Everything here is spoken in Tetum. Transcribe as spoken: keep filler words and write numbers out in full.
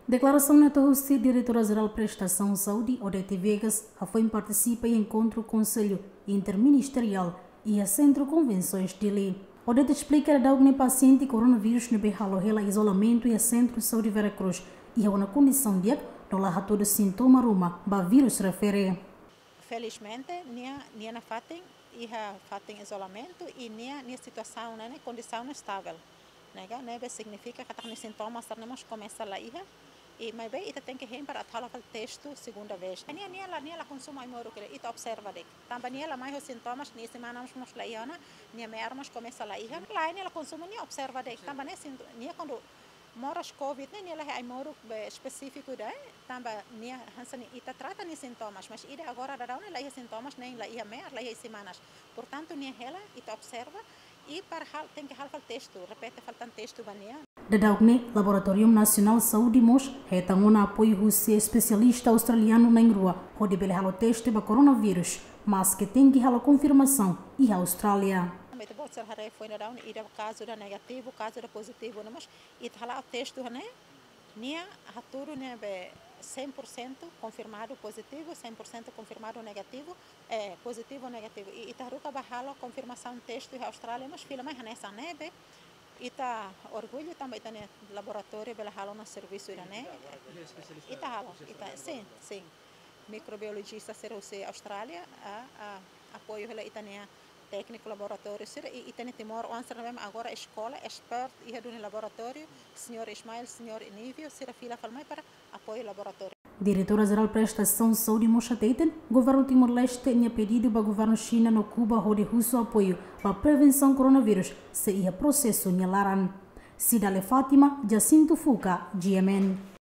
Deklarasaun ne'e hato'o husi Diretora Jerál Prestasaun Saúde, Odete Viegas, hafoin partisipa iha enkontru Konsellu Interministeriál iha Sentru Konvensoens Dili. Odete esplika daudaun ne'e pasiente koronavírus ne'ebé halo hela izolamentu iha Sentru Saúde Vera Cruz iha ona kondisaun di'ak no la hatudu sintoma ruma ba vírus refere. Felizmente, nia, nia nafatin iha fatin izolamentu i nia, nia situasaun ne'e, kondisaun ne'e estável. Ne'e ka, ne'ebé signifika katak nia sintomas sira-ne'e mós komesa la iha. I maibé ita tenke hein para atu halo fali testu segunda vez. Nia, nia la, nia la konsumu ai-moruk, ita observa de'it. Tanba nia la mai ho sintomas, nia isin-manas mós la iha ona, nia me'ar mós komesa la iha. La, nia la konsumu, nia observa de'it. Tanba nia sinto-, nia kuandu moras covid ne'e, nia la iha ai-moruk be espesífiku ida, tanba nia hanesan ne'e ita trata nia sintomas, mas ida agora daudaun ne'e la iha sintomas, nein la iha me'ar, la iha isin-manas. Portantu, nia hela, ita observa, i para hal, tenke halo fali testu, repete fali tan testu ba nia. Daudaun ne'e, Laboratóriu Nasionál Saúde mós hetan ona apoiu husi espesialista australianu na'in-rua, hodi bele halo teste ba koronavírus, maske tenke halo konfirmasaun iha Austrália. Ita-boot sira haree foin daudaun, ida kazu ida negativu, kazu ida pozitivu, ne'e mós ita hala'o testu ne'e, nia hatudu ne'ebé cem por cento confirmado positivo, cem por cento confirmado negativo, eh, positivo negativo. I ita haruka ba halo konfirmasaun testu iha Austrália, mas fila mai hanesan ne'ebé. Ita orgullu tanba ita-nia laboratóriu bele halo ona servisu ida-ne'e. Ita halo, ita, sin, sin. Mikrobiolojista sira husi Austrália, a, a, apoiu hela ita-nia tékniku laboratóriu sira, i ita-nia timoroan sira ne'ebé agora eskola, expert iha duni laboratóriu, señór Ismael, señór Nívio, sira fila fali mai para apoiu laboratóriu. Diretora Jerál Prestasaun Saúde mós hateten, Governu Timor-Leste nia pedidu ba Governu Xina no Kuba hodi husu apoiu ba prevensaun koronavírus sei iha prosesu nia laran. Cidália Fátima, Jacinto Fuca, G M N.